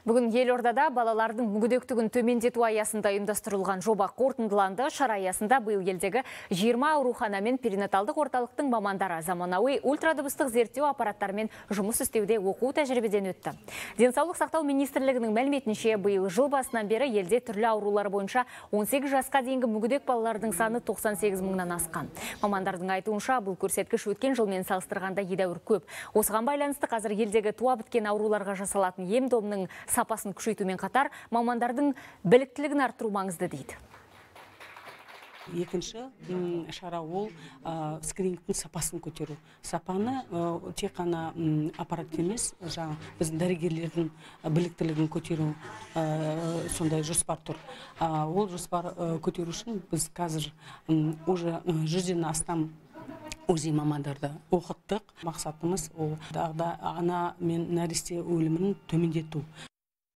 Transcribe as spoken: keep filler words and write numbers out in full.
Бүгін Елордада балалардың мүгедектігін төмендету аясында ұйымдастырылған жоба қорытындыланды. Шара аясында биыл елдегі жиырма аурухана мен перинаталдық орталықтың мамандары заманауи ультрадыбыстық зерттеу аппараттарымен жұмыс істеуде оқу тәжірибеден өтті. Денсаулық сақтау министрлігінің мәліметінше, биыл жыл басынан бері елде түрлі аурулар бойынша он сегіз жасқа дейінгі мүгедек балалардың саны тоқсан сегіз мыңнан асқан. Мамандардың айтуынша, бұл көрсеткіш өткен жылмен салыстырғанда едәуір көп. Осыған байланысты қазір елдегі туа біткен ауруларға жасалатын ем домның сапасын күшейтумен қатар, мамандардың біліктілігін арттыру маңызды дейді. Екінші шара ол скринингтің сапасын көтеру. Сапаны тек қана аппарат емес, жаңа біздің дәрігерлердің біліктілігін көтеру сондай жоспар тұр. Ол жоспар көтеру үшін біз қазір уже жүзден астам УЗИ мамандарды оқыттық. Мақсатымыз ол ана мен нәресте өлімін төмендету.